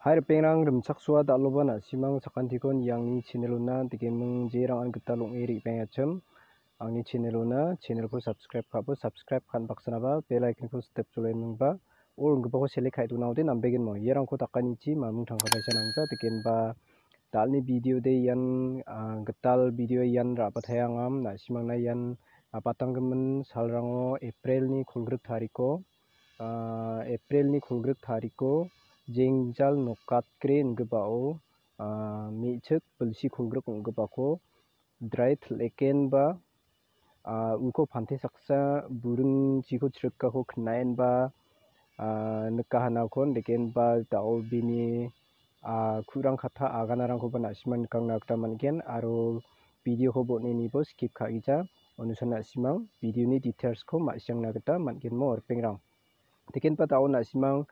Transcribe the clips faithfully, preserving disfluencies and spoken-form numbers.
Hai ripengrang, rimchaksoa dal·oba na·simang sakantiko niangni channel-ona dikeming jerangan gital ong·e re·baengachim. Angni channel-ona, channel-ko subscribe ka·bo, subscribe ka·na baksanaba bell icon-ko step cholenmingba, o ringgipako select ka·e donaode nambegenmo. Iarangko dakanichi mamung tangka paisa nangja, dikenba dal·ni video de ian, ah, gital video ian ra·bataengam, na·simangna ian, ah, patanggimin salrango April-ni kolgrik tariko, ah, April-ni kolgrik tariko jengjal nokatgre ingipao, ah, me·chik bilsi kolgrik ong·gipako drai til·ekenba, ah, uko pante saksa buringchiko chirikako knaenba, ah, nikahanakon dekenba da·o bini, ah, ku·rang katha aganarangkoba na·simang nikangna gita man·gen aro video-ko bon·enibo skip ka·gija. Onusan na·simang video-ni details-ko ma·siangna gita man·genmo ripengrang. Dekenba da·o na·simang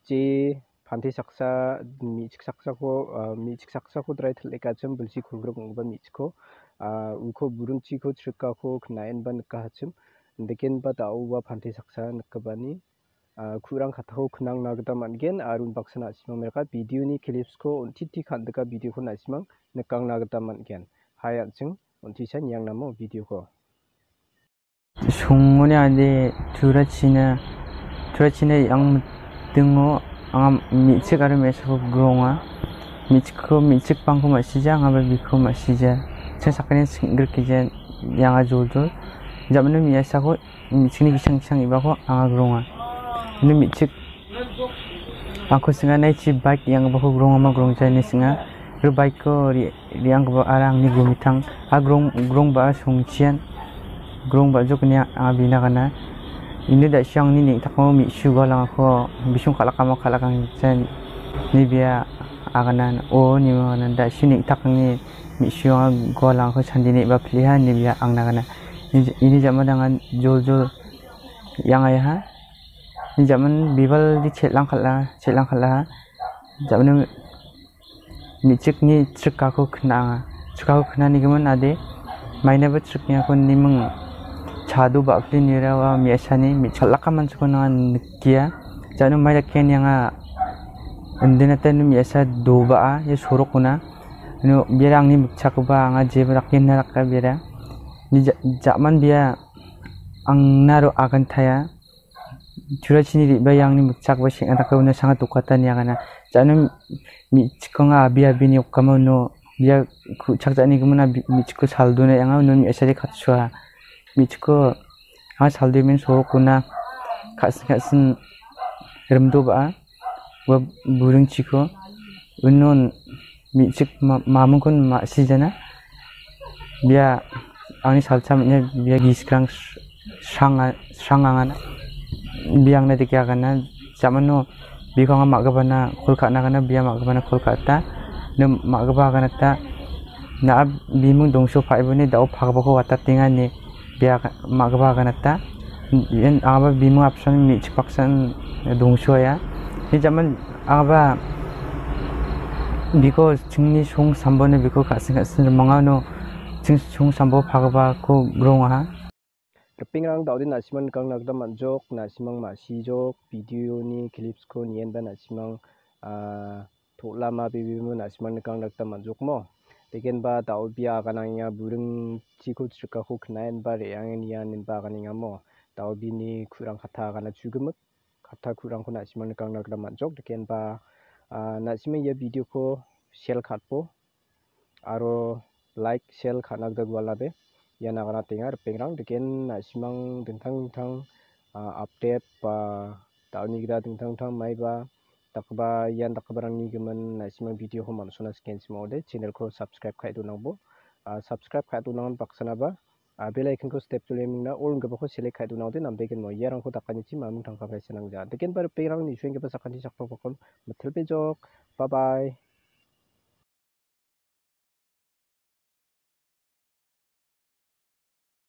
je pante saksa, me·chik saksako, ah, me·chik saksako drai til·ekachim bilsi kolgrik ong·gipa me·chikko, ah, uko buringchiko chirikako knaenba nikahachim. Dekenba da·o ua pante saksa nikgipani, ah, ku·rang kattako knangna gita man·gen aro unbaksana na·simang meraka video-ni clips-ko on·titi kan·dika video-ko na·simang nikangna gita man·gen. Hai an·ching on·tisa niangnamo video-ko. Songoni ade turachina, turachina yang mitingo anga me·chik aro me·asako gronga. Me·chikko, me·chik pangko ma·sija, angaba biko ma·sija. Chang sakgni sing·grikgija, yanga joljol. Jamano me·asako, me·chikni gisang gisang ibako anga gronga. Ini me·chik angko singa naichi bike yang·gipako grongama grongja ine singa. Ro bike-ko re-, re·anggipa ara angni gumitang. A grong-, grongba·a songchian. Grongba·jok ine anga bina gana. Ine da·sio angni neng·takamo me·su galangako bisong kal·akamo kal·akangchan ine bia agana. O nima gana da·sio neng·takni me·su anga galangako chandine ba piliha ine bia angna gana. Ini, ini jama dangan joljol yang·aiha. Jaman bibaldi chel·lang kal·a, chel·lang kal·aha. Jaman me·chikni chirikako kna·anga. Chirikako knanigimin ade, mainaba chirikniako niming chado ba·pli nirawa me·asani me-, chal·laka manchiko nanga nikia. Jano mai dakgen yanga indinata nu me·asa doba·a, ia sorokona. Nu biara angni mikchakoba anga jeba dakgen na daka biara. Ni ja-, jaman bia angnaro agantaya. Churachini re·bae angni mikchakba seng·ataka uno sanga dokata niagana. Jano mi-, me·chikonga abi abini okama uno bia ku-, chakja·ani gimin abi-, me·chikko saldona anga uno me·asari katsoa. Me·chikko anga saldomen sorokona ka·sin ka·sin rimdoba·a. Ua buringchiko unon me·chik ma-, mamingkon ma·sijana. Bia angni salcha me·nia bia giskrang srang-, srangangana. Bia angna dike agana. Jamano biko anga ma·gipana kol ka·na gana, bia ma·gipana kol ka·ata. Ne ma·gipa aganata. Na·a biming dongso pa·iboni da·o pagipako watatenga ine bia ma·gipa aganata. Ian angaba biming apsan me·chik baksan dongsoa. Ni jaman angaba biko chingni song sambone biko ka·sing ka·sing rimangano ching song sambo pagipako grongaha. Ripengrang da·ode na·simang nikangna gita man·jok, na·simang ma·sijok, video-ni clips-ko nienba na·simang, ah, to·lama bebemo na·simang nikangna gita man·jokmo. Dekenba da·o bia aganangenga buringchiko chirikako knaenba re·angen ian inba aganengamo. Da·o bini ku·rang katta agana chugimik, katta ku·rangko na·simang nikangna gita man·jok. Dekenba, ah, na·simang ia video-ko share ka·atbo aro like, share ka·na gita gualabe. Ia nagana tenga ripengrang deken na·simang dingtang dingtang, ah, update ba da·oni gita dingtang dingtang maiba dakgipa ian dakgiparangni gimin na·simang video-ko man·sona sikenchim ong·ode channel-ko subscribe ka·e donangbo. Ah, subscribe ka·e donangan baksanaba, ah, bell icon-ko step jole mingna all inggipako select ka·e donangode nambegenmo. Iarangko dakanichi mamung tangka paisa nangja. Dekenba ripengrang nisuenggipa sakanti sakpakpakon mitilbejok. Bye bye.